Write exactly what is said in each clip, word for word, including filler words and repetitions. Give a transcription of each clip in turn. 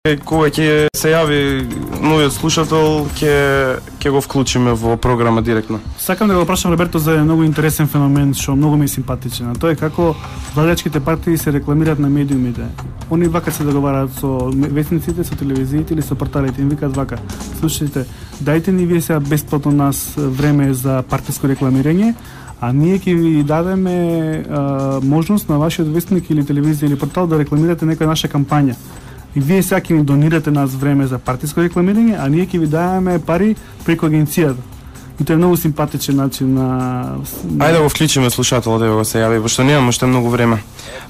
кога ќе се јави новиот слушател, ќе ќе го вклучиме во програма директно. Сакам да го прашам Роберто за еден многу интересен феномен што многу ми е симпатичен. А тоа е како владачките партии се рекламираат на медиумите. Они вака се договараат со весниците, со телевизиите или со порталите, им викаат вака: слушајте, дајте ни вие сега бесплатно нас време за партиско рекламирање, а ние ќе ви дадеме а, можност на вашиот вестник или телевизија или портал да рекламирате некоја наша кампања. И вие сега ќе ни донирате нас време за партиско рекламирање, а ние ќе ви даваме пари преку агенцијата. И тоа е многу симпатичен начин на... Ајде да го вклучиме слушателот, да го се јави, пошто немаме уште многу време.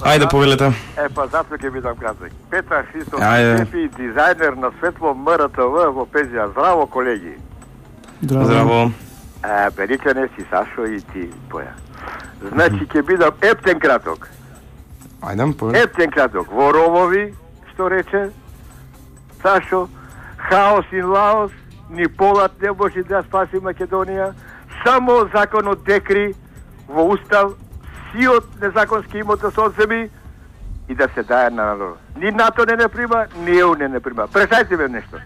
Ајде, повелете. Е, па затоа ќе бидам краток. Петар Христов, Ајде. шеф и дизајнер на Светло МРТВ во Пезија. Здраво, колеги. Здраво. Здраво. Е, Беличане си, Сашо и ти, Поја. Значи, ќе бидам ептен краток. Ајде, повелете. Ептен краток. Во ровови, што рече Сашо, хаос и лаос, ни полат не може да спаси Македонија, само законот декри во устав сиот незаконски имот да се одземи и да се даje на народ. Ни НАТО не не прима, ни ЕУ не не прима. Прešајте ме нешто.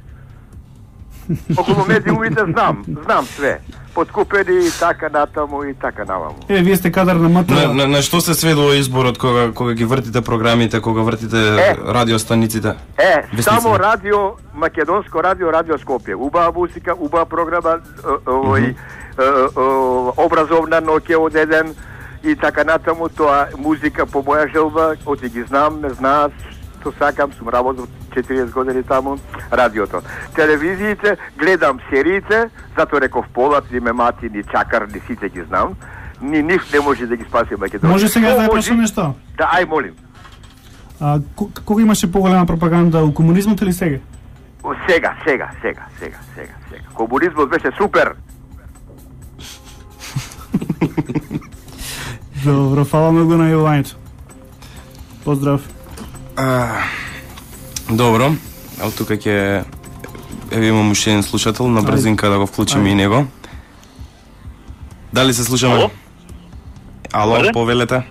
Околу медиумите знам, знам све. Подкупени и така натаму и така наваму. Е, вие сте кадар на МТВ. На, на, на што се сведува изборот кога кога ги вртите програмите, кога вртите Е. радиостаниците? Е, Вестници. само радио, македонско радио, радио Скопје. Убава музика, убава програма, овој образовна ноќе од еден и така натаму, тоа музика по моја желба, оти ги знам, не знаат, што сакам, сум работил четириесет години таму, радиото. Телевизиите, гледам сериите, затоа реков Полат, ни Мемати, ни Чакар, ни сите ги знам, ни нив не може да ги спаси Македонија. Може сега да ја Може- прашам нешто? Да, ај молим. А, кога имаше поголема пропаганда, у комунизмот или сега? О, Сега, сега, сега, сега, сега, сега. Комунизмот беше супер. Добро, фала многу на јавувањето. Поздрав. А, добро, ал тука ќе еве имам уште еден слушател, на брзинка да го вклучиме Ајде. и него. Дали се слушаме? Ало? Ало, Ајде. повелете.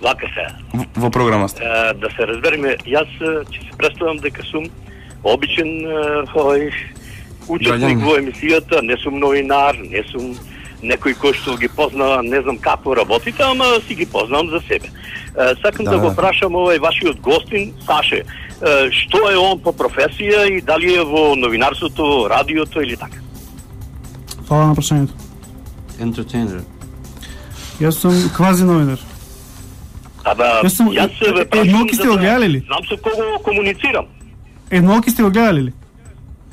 Вака се. Во, во програма сте. Е, да се разбереме, јас е, ќе се представам дека сум обичен е, овој учесник Граѓанин. во емисијата, не сум новинар, не сум некој кој што ги познава, не знам како работите, ама си ги познавам за себе. Е, сакам да, Да, да го да. прашам овој вашиот гостин, Саше, е, што е он по професија и дали е во новинарството, радиото или така? Фала на прашањето. Entertainer. Јас сум квази новинар. Ама Јас сум- јас се ве е, прашам едноки сте за го да гледали ли? знам со кого комуницирам. Едноки сте го гледали ли?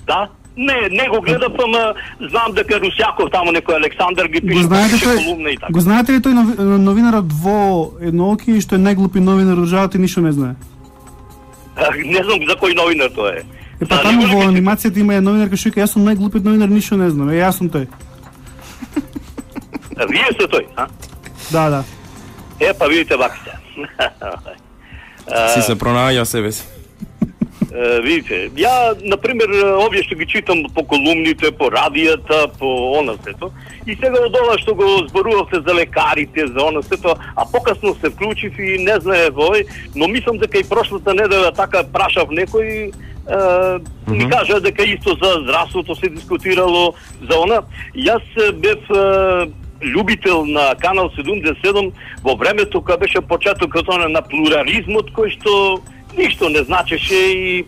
Да, не, не го гледав, ама знам дека Русјаков таму некој Александар ги Го пише, знаете пише тој, колумна и така. го знаете ли тој нови- новинарот во Едноки што е најглупи новинар од државата и ништо не знае? Не знам за кој новинар тоа е. Е, па За таму него ли во мислите? анимацијата има една новинарка што вика: јас сум најглупиот новинар, ништо не знам. Е, јас сум тој. А, Вие сте тој, а? Да, да. Е, па видите вака се. Си се пронаѓа себе си. Е, видите, ја, например, овие што ги читам по колумните, по радијата, по она сето, и сега од ова што го зборувавте за лекарите, за она сето, а покасно се вклучив и не знае вој, но мислам дека и прошлата недела така прашав некој, е, ми кажа дека исто за здравството се дискутирало, за она. Јас е, бев е, љубител на Канал седумдесет и седум во времето кога беше почетокот она на плурализмот кој што ништо не значеше и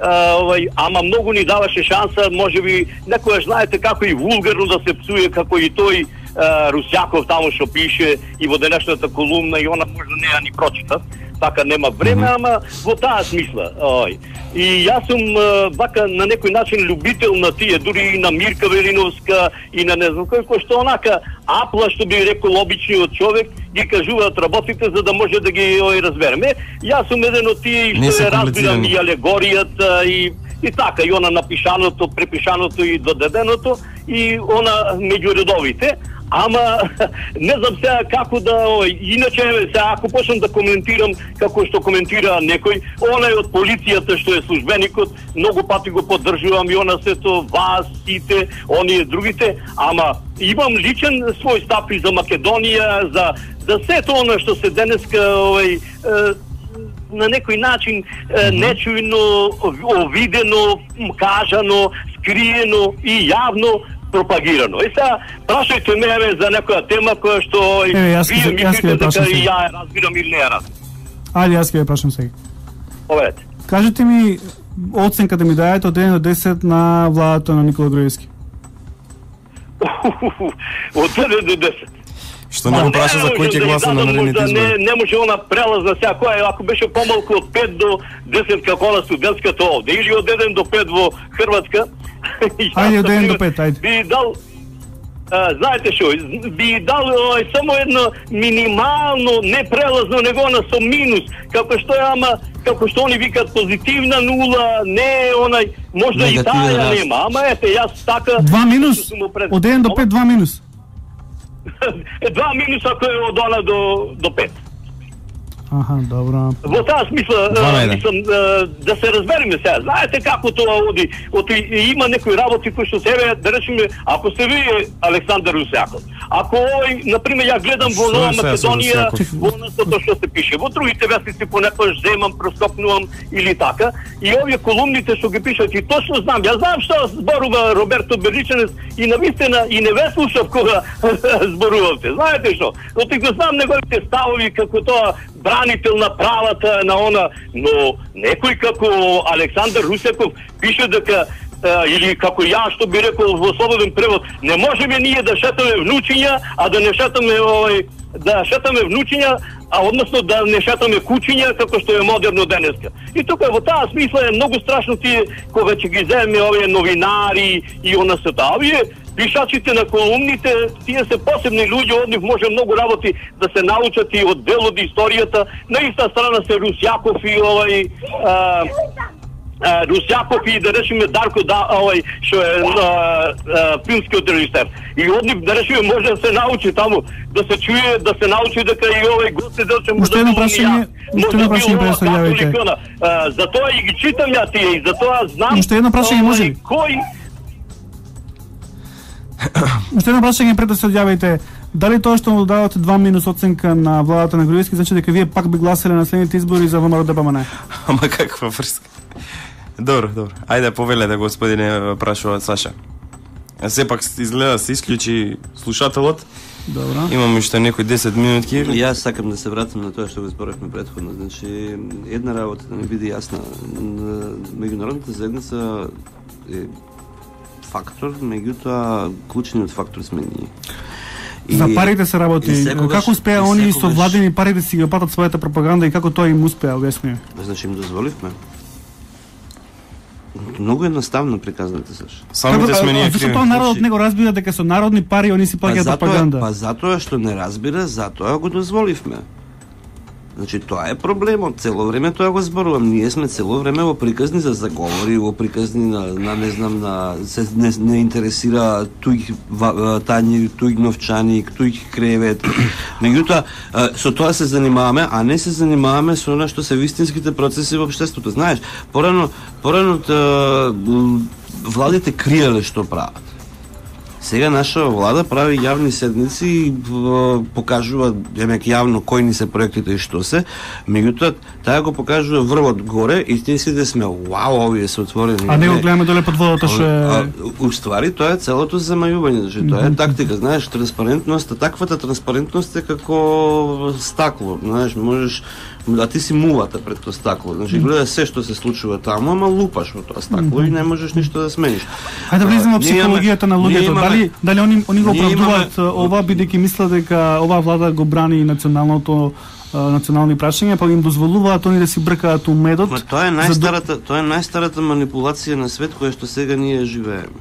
а, овај, ама многу ни даваше шанса, можеби некојаш знаете како и вулгарно да се псуе, како и тој а, Русјаков таму што пише и во денешната колумна и она можда не ја ни прочита, така нема време, ама во таа смисла. Ој. И јас сум а, вака на некој начин љубител на тие, дури и на Мирка Велиновска и на не знам кој, кој што онака апла, што би рекол обичниот човек, ги кажуваат работите за да може да ги ој разбереме. Јас сум еден од тие Не што се ја разбирам комплицирани. и алегоријата и и така, и она напишаното, препишаното и додаденото и она меѓу редовите. Ама не знам сега како да, ој, иначе сега ако почнам да коментирам како што коментира некој, онај од полицијата што е службеникот, многу пати го поддржувам и она сето вас, сите, оние другите, ама имам личен свој став и за Македонија, за за сето она што се денеска, овој, на некој начин е, нечујно, овидено, кажано, скриено и јавно пропагирано. И сега прашајте ме за некоја тема која што Еве, јас вие ќе- јас ќе мислите ве прашам дека и сега. ја ја разбирам или не ја разбирам. Ајде, јас ќе ве прашам сега. Поведете. Кажете ми оценка да ми дајете од еден до десет на владата на Никола Груевски. Од еден до десет. Што не го праша за кој ќе гласа на наредните Не, избори? не може она прелазна сега, која ако беше помалку од пет до десет како на студентската овде, или од еден до пет во Хрватска. Ајде, од еден до пет, ајде. Би дал а, знаете што, би дал ој, само едно минимално, не прелазно, него на со минус, како што е, ама, како што они викаат позитивна нула, не онај, можда и Негативен таа ја раст. нема, ама ете, јас така... Два минус? сум му пред- Од еден до пет, два минус. Е, два минуса ако е од она до, до пет. Аха, добро. Во таа смисла, Два на е, еден. мислам, е, да се разбереме сега. Знаете како тоа оди? Оти има некои работи кои што себе, да речеме, ако се вие Александар Русјаков, ако ој, например, ја гледам во Што е Нова сега со Македонија, Русјаков? во тоа што се пише, во другите вестници понекогаш земам, проскопнувам или така, и овие колумните што ги пишат, и точно знам, ја знам што зборува Роберто Берличанец и навистина и не ве слушав кога зборувавте. Знаете што? Оти го знам неговите ставови како тоа бранител на правата на она, но некој како Александар Русјаков пише дека е, или како ја што би рекол во слободен превод, не можеме ние да шетаме внучиња, а да не шетаме овој да шетаме внучиња, а односно да не шетаме кучиња како што е модерно денеска. И тука во таа смисла е многу страшно тие кога ќе ги земе овие новинари и она се таа. Овие пишачите на колумните, тие се посебни луѓе, од нив може многу работи да се научат и од дел од историјата. На иста страна се Русјаков и овај а, а, Русјаков и да речеме Дарко да овај што е а, а, филмскиот режисер. И од нив да речеме може да се научи таму, да се чуе, да се научи дека и овај Гоце Делчев Уште едно прашање, уште едно прашање представјавајте. Затоа и ги читам ја тие и затоа знам. Уште едно прашање може ли? Кој Уште едно прашање пред да се одјавите. Дали тоа што му давате два минус оценка на владата на Груевски, значи дека вие пак би гласале на следните избори за ВМРО Д P M N? Ама каква врска? Добро, добро. Ајде повелете, господине, прашува Саша. А сепак изгледа се исклучи слушателот. Добро. Имаме уште некои десет минутки. Јас сакам да се вратам на тоа што го зборевме претходно. Значи, една работа да не биде јасна. Меѓународната заедница е фактор, меѓутоа клучниот фактор сме ние. И- За парите се работи. и секогаш- Како успеа и они со секогаш- владени пари да си ги платат својата пропаганда и како тоа им успеа, објасни? Значи им дозволивме. Многу едноставно приказвате, Саш. Самите сме ние Зашто криви. тоа народот Значи- не го разбира дека со народни пари они си плаќаат затоа, пропаганда? па затоа што не разбира, затоа го дозволивме. Значи тоа е проблемот, цело време тоа го зборувам. Ние сме цело време во приказни за заговори, во приказни на, на не знам, на се не, не интересира туѓ ва- тањи, туѓ новчани, туѓ кревет. Меѓутоа со тоа се занимаваме, а не се занимаваме со она што се вистинските процеси во општеството. Знаеш, порано порано та, м, владите криеле што прават. Сега наша влада прави јавни седници и в- покажува демек јавно кои ни се проектите и што се, меѓутоа таа го покажува врвот горе и тие сите сме вау, овие се отворени. А не го гледаме доле под водата што А, е... уствари тоа е целото замајување, значи тоа е тактика, знаеш, транспарентност, таквата транспарентност е како стакло, знаеш, можеш да ти си мулата пред тоа стакло, значи гледа се што се случува таму, ама лупаш во тоа стакло и не можеш ништо да смениш. Ајде да влеземе во Ние имаме- психологијата на ние луѓето. имаме- Дали дали они они го ние имаме- оправдуваат ова бидејќи мислат дека оваа влада го брани националното а, национални прашања, па им дозволуваат они да си бркаат умедот. Ма тоа е за да- најстарата, тоа е најстарата манипулација на свет која што сега ние живееме.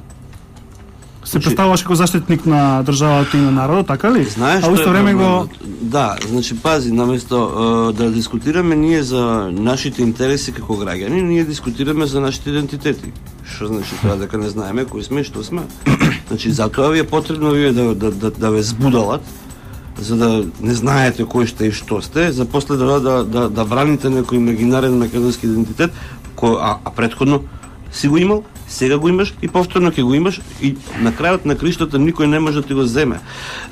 се представуваш како заштитник на државата и на народот, така ли? Знаеш а што исто е време го проблемот? Да, значи пази, наместо е, да дискутираме ние за нашите интереси како граѓани, ние дискутираме за нашите идентитети. Што значи тоа дека не знаеме кои сме и што сме. Значи затоа ви е потребно вие да да да, да ве збудалат, за да не знаете кој сте и што сте, за после да да да, да браните некој имагинарен македонски идентитет, кој а, а претходно си го имал, Сега го имаш и повторно ќе го имаш и на крајот на криштото никој не може да ти го земе.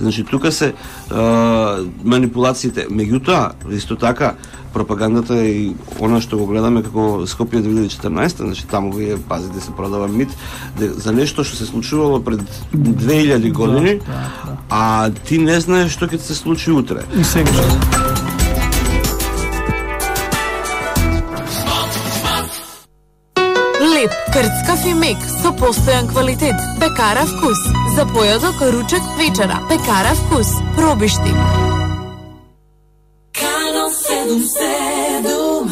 Значи тука се а, манипулациите. Меѓутоа, исто така пропагандата и она што го гледаме како Скопје две илјади и четрнаесета, значи таму вие пазите се продава мит де, за нешто што се случувало пред две илјади години, да, да, да. А ти не знаеш што ќе се случи утре. И сега Леп, крцкав и мек со постојан квалитет. Пекара вкус. За појадок, ручек, вечера. Пекара вкус. Пробишти. Канал седум седум.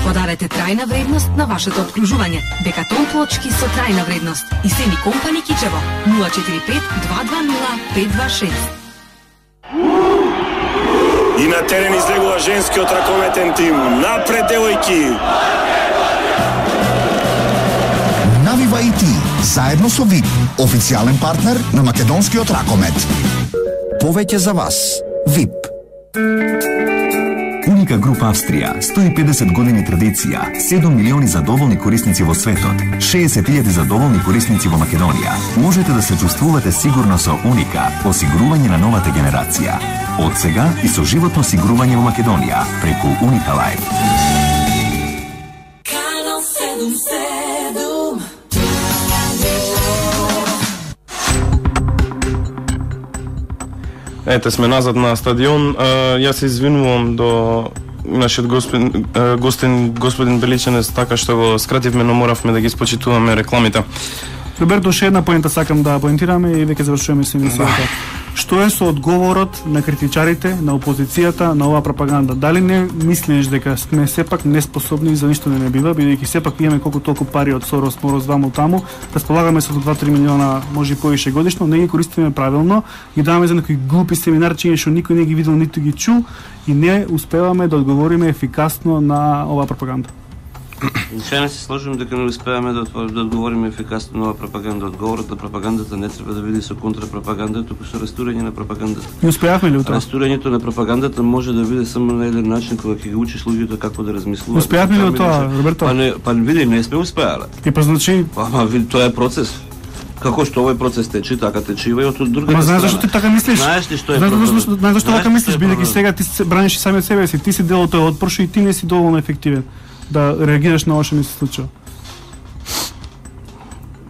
Подарете трајна вредност на вашето обкружување. Декатон плочки со трајна вредност. И Сени компани Кичево нула четири пет два два нула пет два шест. И на терен излегува женскиот ракометен тим. Напред, девојки! Навива и ти, заедно со ВИП, официјален партнер на македонскиот ракомет. Повеќе за вас. ВИП. Уника Груп Австрија, сто и педесет години традиција, седум милиони задоволни корисници во светот, шеесет илјади задоволни корисници во Македонија. Можете да се чувствувате сигурно со Уника, осигурување на новата генерација. Од сега и со животно осигурување во Македонија, преку Уника Лайф. Канал седум седум. Ете, сме назад на стадион. Јас се извинувам до нашиот господин, гостин, господин Беличанец, така што го скративме, но моравме да ги спочитуваме рекламите. Роберто, ше една поента сакам да поентираме и веќе завршуваме со емисијата. Што е со одговорот на критичарите, на опозицијата, на оваа пропаганда? Дали не мислиш дека сме сепак неспособни за ништо не не бива, бидејќи сепак имаме колку толку пари од Сорос, Мороз, ваму таму, располагаме со два-три милиона, може и повише годишно, не ги користиме правилно, ги даваме за некои глупи семинарчиња што никој не ги видел ниту ги чу и не успеваме да одговориме ефикасно на оваа пропаганда. Сега не се сложим дека не успеаме да, да одговориме ефикасно на оваа пропаганда. Одговорот на пропагандата не треба да биде со контрапропаганда, туку со растурање на пропагандата. Не успеавме ли у тоа? Растурањето на пропагандата може да биде само на еден начин кога ќе ги учиш луѓето како да размислуваат. Успеавме ли у тоа, Роберто? Па не, па види, не сме успеале. И па значи, Ама види, тоа е процес. Како што овој процес тече, така тече и од другата Ама знаеш страна. зашто ти така мислиш? Знаеш ли што е Знаеш проблемот? зашто, знаеш зашто така мислиш, што е бидејќи сега ти се браниш и сами од себе си, ти си дел од тој отпор што и ти не си доволно ефективен да реагираш на ова што ми се случува.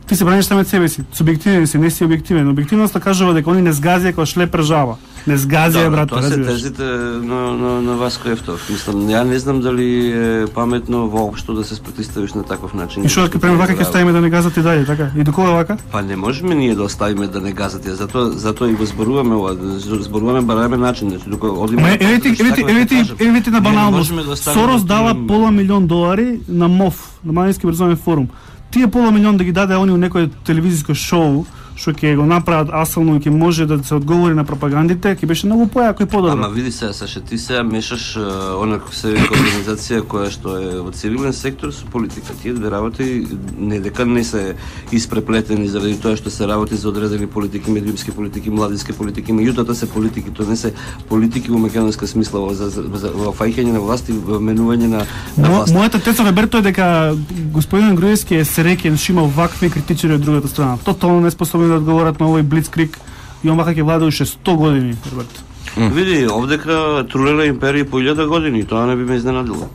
Ти се браниш сами од себе си, субјективен си, не си објективен. Објективноста кажува дека они не згазија кога шлепер жаба. Не згазија, брат, тоа се тезите на, на, на Васко Ефтов. Мислам, ја не знам дали е паметно воопшто да се спротиставиш на таков начин. И што ќе правиме вака, ќе ставиме да не газат и дале, така? И до кога вака? Па не можеме ние да оставиме да не газат, затоа затоа и го зборуваме ова, зборуваме бараме начин, значи докога одиме. Ма еве еве еве еве на баналност. Сорос дава пола милион долари на МОФ, на Македонски образовен форум. Тие пола милион да ги даде они у некој телевизиско шоу што ќе го направат асално и ќе може да се одговори на пропагандите, ќе беше многу појако и подобро. Ама види се, Саша, ти сега мешаш онако се вика организација која што е во цивилен сектор со политика. Тие две работи не дека не се испреплетени заради тоа што се работи за одредени политики, медиумски политики, младински политики, меѓутоа се политики, тоа не се политики во македонска смисла во, за, за, во фаќање на власти, во менување на, на власт. Мојата теза, Роберто, е дека господин Груевски е среќен што има вакви критичари од другата страна. Тотално неспособни да одговорат на овој блицкриг и он вака ќе владе уште сто години, Роберто. Mm. Види, овдека трулела империја по илјада години, тоа не би ме изненадило.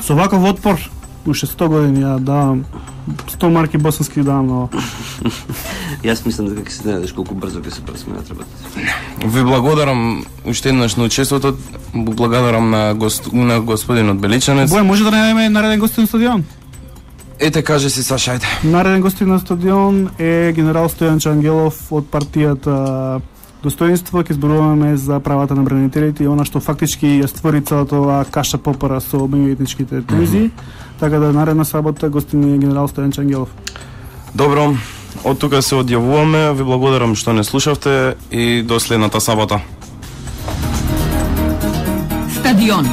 Со ваков отпор, уште сто години, ја давам сто марки босански давам на ова. Јас мислам дека ќе се најдеш колку брзо ќе се пресменат работите. Ви благодарам уште еднаш на учеството, благодарам на, гост, на господинот Беличанец. Бој, може да најдеме нареден гостин на стадион? Ете, каже си, Саша, ајде. Нареден гостин на стадион е генерал Стојан Чангелов од партијата Достоинство. Ќе зборуваме за правата на бранителите и она што фактички ја створи целата оваа каша попара со меѓуетничките тензии. Mm -hmm. Така да наредна сабота гостин е генерал Стојан Чангелов. Добро, Од тука се одјавуваме, ви благодарам што не слушавте и до следната сабота. Стадион.